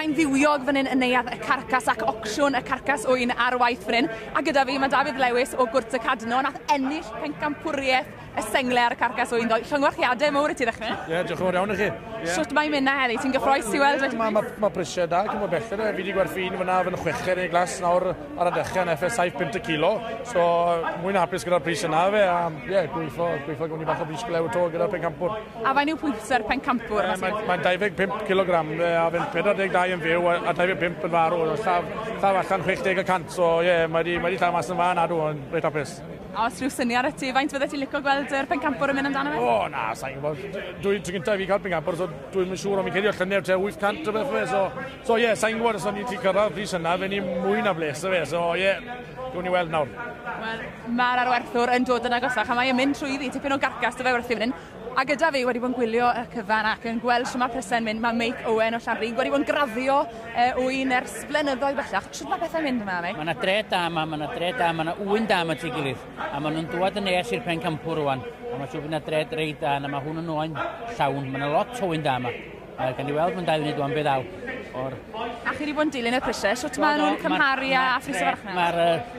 Mae'n fywiog fan hyn yn neuadd y Carcas ac ocsiwn y Carcas ŵyn ar waith fan hyn. A gyda fi mae Dafydd Lewis o Gwrt y Cadno, nath ennill pencampwriaeth y sengle ar y Carcas ŵyn ddoe. Llongyfarchiadau mowr i ti ddechrau. Ie, yeah, diolch yn fawr iawn i chi. Yeah. Shwt mae'n mynd na heddi? Ti'n gyffroes i weld wedi? Mae ma, ma prisiau da, cymryd belled. Fi wedi gwerthu un fyna yn chweched yn ei glas nawr ar y dechrau yn FS 7 punt y kilo. So, mwyn hapus gyda'r pris yna fe. A ie, yeah, gweithio, gweithio gwni bach o bris glew to gyda'r pencampwr. A fain yw pwysau'r pencampwr? Mae'n ma 25 kg a fe'n 42 yn fyw a 25 yn farw. Llaf, llaf allan 60 y cant. So, ie, yeah, mae wedi mae di llaw mas yn fan adw, yn reit hapus. A os rhyw syniad i ti, faint fydde ti'n licio gweld yr pencampwr yn mynd amdano fe? O, na, sa'n gwybod. Dwi'n tro gyntaf i fi cael pencampwr, so dwi'n yn siŵr, ond fi'n credu o llynedd tua 800 o beth fe. So, so ie, yeah, sa'n gwybod os o'n i ti cyrraedd pris yna, fe ni mwy na bles o fe. So, ie, yeah, dwi'n ni weld nawr. Wel, mae'r arwerthwr yn dod yn agosach, a mae'n mynd trwyddi, tipyn o garcas dy fe werthu fan hyn. A gyda fi wedi bod yn gwylio y cyfan ac yn gweld shwt mae prysau'n mynd, mae Meic Owen o Llanrug wedi bod yn graddio ŵyn ers blynyddoedd bellach. Shwt mae pethau'n mynd yma, Meic? Mae yna dre da yma, mae yna dre da, mae yna ŵyn da yma at ei gilydd. A maen nhw'n dŵad yn nes i'r pencampwr rwan. A mae'n siŵr bod yna dre reit da, na mae hwn yn oen llawn. Mae yna lot o ŵyn da yma. A gan i weld mewn 2 funud rwan be ddaw. O'r... A chi wedi bod yn dilyn y prisiau, shwt maen nhw'n cymharu â phris y farchnad? Mae'r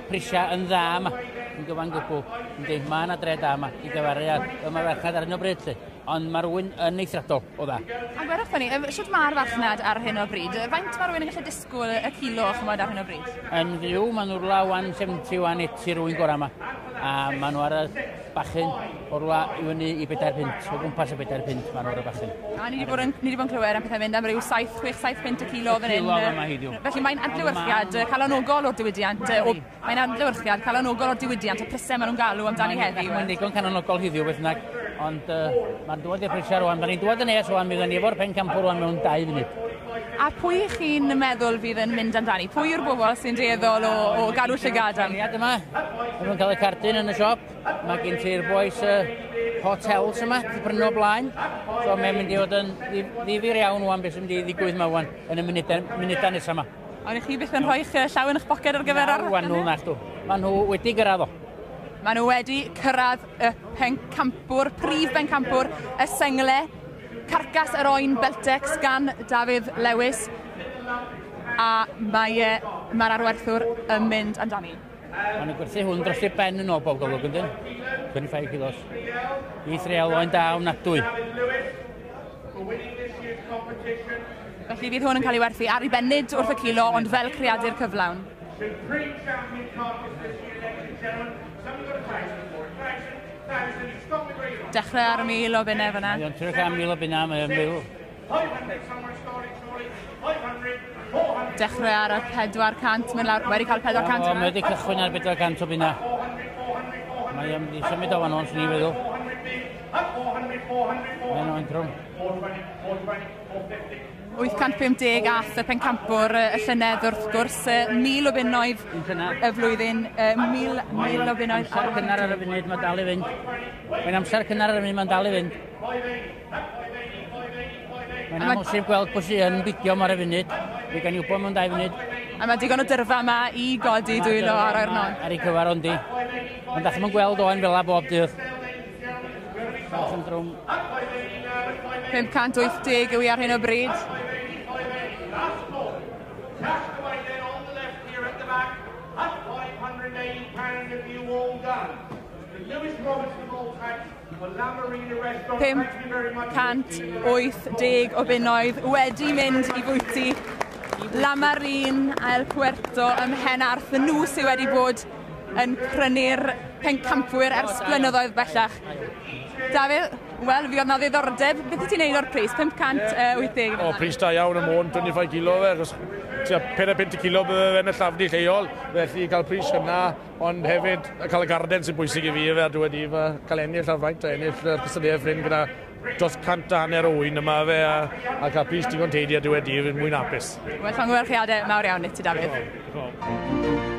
prisiau yn dda yma, yn gyfan gwbl. Yndi, mae yna dre da yma i gyfaru â yma farchnad ar hyn o bryd, lly. Ond mae'r ŵyn yn eithriadol o dda. A gwerwch fyny, shwt mae'r farchnad ar hyn o bryd? Faint mae rhywun yn gallu disgwyl y kilo, chymod, ar hyn o bryd? Yn fyw, maen nhw'n rwla 170, 180 rwy'n gorau yma. A maen nhw ar y bachyn o rwla i fyny i 4 punt, o gwmpas y 4 punt maen nhw ar y bachyn. A ni wedi bod yn, ni wedi bod yn clywed am pethau mynd am ryw 7, 6, 7 punt y kilo fan hyn. Kilo yma heddiw. Felly mae'n adlewyrchiad calonogol o'r diwydiant, mae'n adlewyrchiad calonogol o'r diwydiant, y prysau maen nhw'n galw amdani heddiw. Mae'n ddigon calonogol heddiw beth bynnag, ond mae'n dod i'r prisiau rwan. Mae'n ni'n dod yn nes rwan, mi fyddwn ni efo'r pencampwr rwan mewn 2 funud. A pwy chi'n meddwl fydd yn mynd amdani? Pwy yw'r bobl sy'n dueddol o gadw llygad am? Yma, maen nhw'n cael y cardyn yn y siop. Mae gen ti'r boys hotels yma, di prynu o blaen. So mae'n mynd i fod yn ddifyr iawn wan beth sy'n mynd i ddigwydd yma wan yn y munudau nesaf yma. Ond i chi byth yn rhoi'ch llaw yn eich poced ar gyfer ar... Wan nhw nachdw. Maen nhw wedi gyrraedd o. Maen nhw wedi cyrraedd y pencampwr, prif bencampwr, y sengle, carcas yr oen Beltex gan Dafydd Lewis. A mae'r arwerthwr yn mynd amdani. Maen nhw'n gwerthu hwn dros ei ben yn ôl bob golwg, yndyn? 25 kilos. I threal oen da ofnadwy. Felly fydd hwn yn cael ei werthu ar ei ben, nid wrth y kilo, ond fel creadur cyflawn. Dechrau ar y 1,000 o bunnau fyna. Mae o'n trio cael 1,000 o bunnau, mae o'n 1,000. Dechrau ar y 400, mynd lawr, wedi cael 400 yna. Mae wedi cychwyn ar 400 o bunna. Mae o'n mynd i symud o fan o'n, swn i'n feddwl. Mae'n o'n trwm. 850 ath y pencampwr y llynedd wrth gwrs, 1,000 o bunnoedd y flwyddyn, 1,000 o bunnoedd. Amser cynnar ar y funud, mae'n dal i fynd. Mae'n amser cynnar ar y funud, mae'n dal i fynd. Mae'n amhosib gweld pwy sy'n yn bidio ar y funud. Fe gan i wybod mewn 2 funud. A mae digon o dyrfa yma i godi dwylo ar o'r non. Ar ei cyfar ondi. Ond dach chi'm yn gweld oen fel 'a bob dydd. Bach yn drwm. 580 yw i ar hyn o bryd. $580 o bunnoedd wedi mynd i fwyty La Marine El Puerto ym Mhenarth. Nhw sydd wedi bod yn prynu'r pencampwyr ers blynyddoedd bellach. Dafydd, wel, fi oedd na ddiddordeb. Beth wyt ti'n neud o'r pris? 580? O, pris da iawn y Môn, 25 kilo fe, achos tua 4 kilo bydde fe'n y llafni lleol, felly cael pris yna, ond hefyd cael y garden sy'n bwysig i fi, fe, a dwi wedi cael ennill ar faint, a ennill yr cystadleuaeth ffrind gyda dros 150 o ŵyn yma fe, a cael pris digon teidi a dwi wedi, fi'n mwyn hapus. Wel, llongyfarchiadau mawr iawn i ti, Dafydd.